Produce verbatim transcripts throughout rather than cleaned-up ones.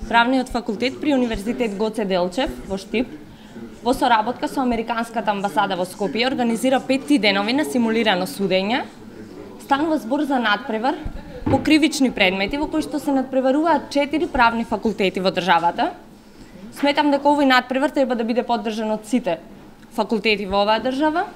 Правниот факултет при Универзитет Гоце Делчев во Штип во соработка со Американската амбасада во Скопје организира петти денови на симулирано судење. Станува збор за надпревар по кривични предмети во кои што се надпреваруваат четири правни факултети во државата. Сметам дека овој надпревар треба да биде поддржан од сите факултети во оваа држава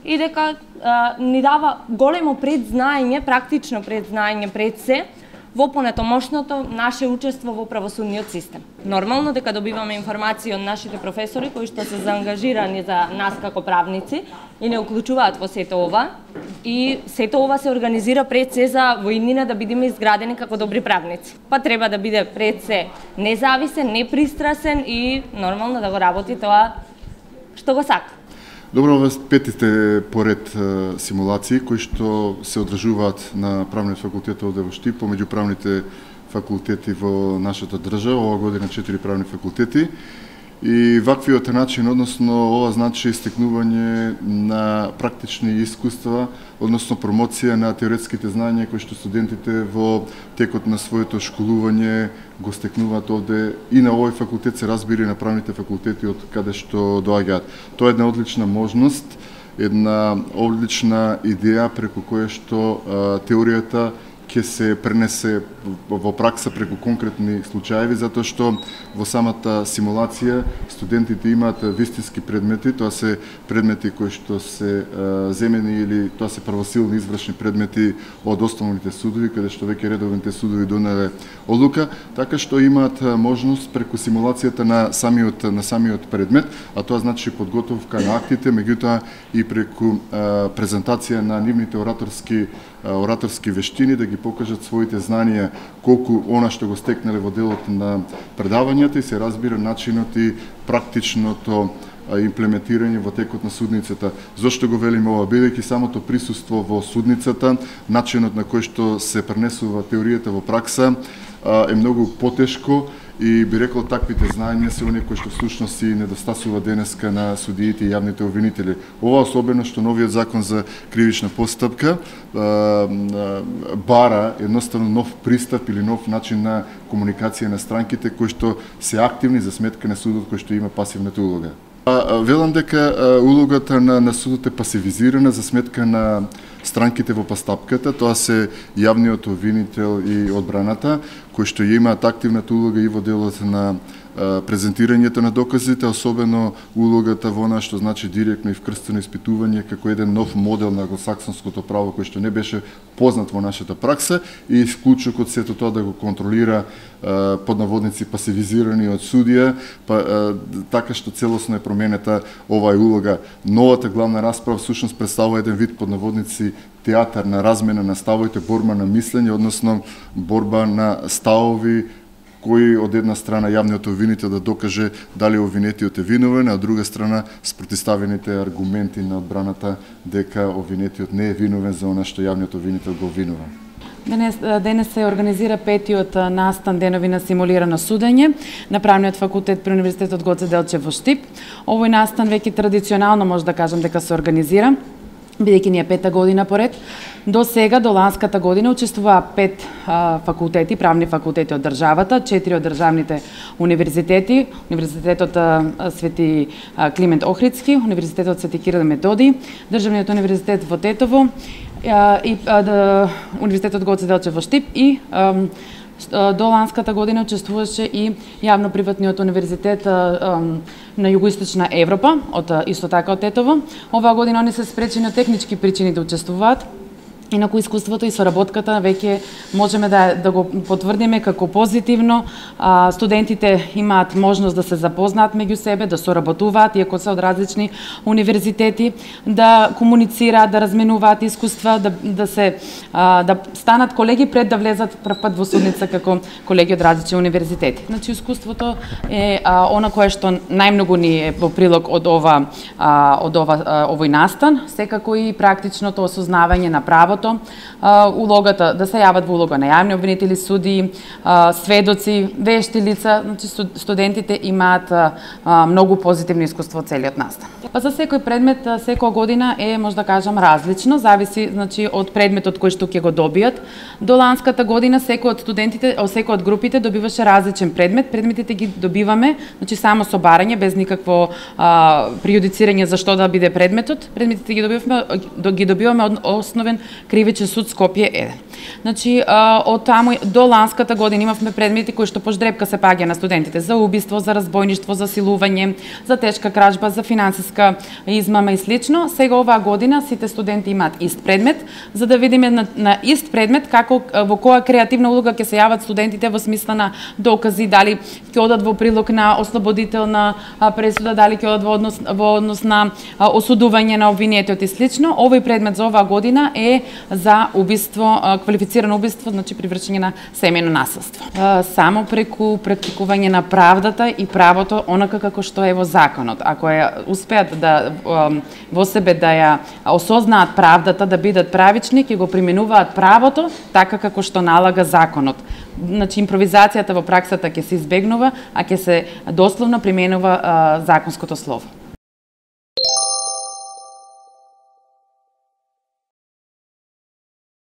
и дека а, ни дава големо предзнаење, практично предзнаење пред се во понатомошното наше учество во правосудниот систем. Нормално дека добиваме информации од нашите професори кои што се заангажирани за нас како правници и не уклучуваат во сето ова, и сето ова се организира пред се за во иднина да бидеме изградени како добри правници. Па треба да биде пред се независен, непристрасен и нормално да го работи тоа што го сака. Добро, ова петите поред симулации кои што се одржуваат на правниот факултет овде во Штип, помеѓу правните факултети во нашата држава, ова година четири правни факултети. И ваквиот начин, односно ова значи стекнување на практични искуства, односно промоција на теоретските знаења кои што студентите во текот на своето школување го стекнуваат овде и на овој факултет, се разбира и на правните факултети од каде што доаѓаат. Тоа е една одлична можност, една одлична идеја преку која што а, теоријата ќе се пренесе во пракса преку конкретни случаеви, затоа што во самата симулација студентите имаат вистински предмети, тоа се предмети кои што се а, земени или тоа се правосилни извршни предмети од основните судови, каде што веќе редовните судови донеле одлука, така што имаат можност преку симулацијата на самиот на самиот предмет, а тоа значи подготовка на актите, меѓутоа и преку а, презентација на нивните ораторски ораторски вештини, да ги покажат своите знанија колку она што го стекнале во делот на предавањата и се разбира начинот и практичното имплементирање во текот на судницата. Зошто го велиме ова? Бидејќи самото присуство во судницата, начинот на кој што се пренесува теоријата во пракса е многу потешко и би рекол таквите знаења се оние кои што всушност си недостасува денеска на судиите и јавните обвинители. Ова особено што новиот закон за кривична постапка бара едноставно нов пристап или нов начин на комуникација на странките кои што се активни за сметка на судот кој што има пасивната улога. Велам дека улогата на, на судот е пасивизирана за сметка на странките во постапката, тоа се јавниот обвинител и одбраната, кои што имаат активната улога и во делот на презентирањето на доказите, особено улогата во она што значи директно и вкрстено испитување како еден нов модел на англосаксонското право кој што не беше познат во нашата пракса и вклучок од сето тоа да го контролира под наводници пасивизирани од судија, па, така што целосно е променета оваа улога. Новата главна расправа всушност представува еден вид под наводници театар на размена на ставовите, борба на мислење, односно борба на ставови кој од една страна јавниот обвинител да докаже дали обвинетиот е виновен, а од друга страна спротивставените аргументи на одбраната дека обвинетиот не е виновен за она што јавниот обвинител го обвинува. Денес, денес се организира петиот настан денови на симулирано судење на Правниот факултет при Универзитетот Гоце Делчев во Штип. Овој настан веќе традиционално може да кажам дека се организира, бидејќи ни е пета година поред. До сега, до ланската година, учествуваа пет а, факултети, правни факултети од државата, четири од државните универзитети, Универзитетот а, Свети а, Климент Охридски, Универзитетот Свети Кирил и Методиј, Државниот универзитет во Тетово, а, и а, да, Универзитетот Гоце Делчев во Штип и а, до ланската година учествуваше и јавно-приватниот универзитет а, на Југоисточна Европа, од исто така од Тетово. Оваа година они се спречени од технички причини да учествуваат. Инаку искуството и соработката веќе можеме да, да го потврдиме како позитивно. А, студентите имаат можност да се запознаат меѓу себе, да соработуваат, иако се од различни универзитети, да комуницираат, да разменуваат искуства, да, да, се, а, да станат колеги пред да влезат прв пат во судница како колеги од различни универзитети. Значи, искуството е а, она кое што најмногу ни е во прилог од, ова, а, од ова, а, овој настан, секако и практичното осознавање на правото, правото, улогата да се јават во улога на јавни обвинители, суди, сведоци, вешти лица, значи студентите имаат многу позитивно искуство од целиот настан. Па за секој предмет секоја година е, може да кажам, различно, зависи значи од предметот кој што ќе го добијат. До ланската година секој од студентите, секој од групите добиваше различен предмет. Предметите ги добиваме, значи само со барање, без никакво а, пријудицирање за што да биде предметот. Предметите ги добиваме, ги добиваме од основен кривичен суд Скопје еден. Значи, од таму до ланската година имавме предмети кои што по ждрепка се паѓа на студентите за убиство, за разбойништво, за силување, за тешка кражба, за финансиска измама и слично. Сега оваа година сите студенти имаат ист предмет, за да видиме на, на ист предмет како во која креативна улога ќе се јават студентите во смисла на докази, дали ќе одат во прилог на ослободителна пресуда, дали ќе одат во однос во однос на осудување на обвинетиот и слично. Овој предмет за оваа година е за убиство, квалифицирано убиство, значи при вршење на семејно насилство. Само преку практикување на правдата и правото онака како што е во законот. Ако ја успеат да во себе да ја осознаат правдата, да бидат правични, ќе го применуваат правото така како што налага законот. Значи импровизацијата во праксата ќе се избегнува, а ќе се дословно применува законското слово.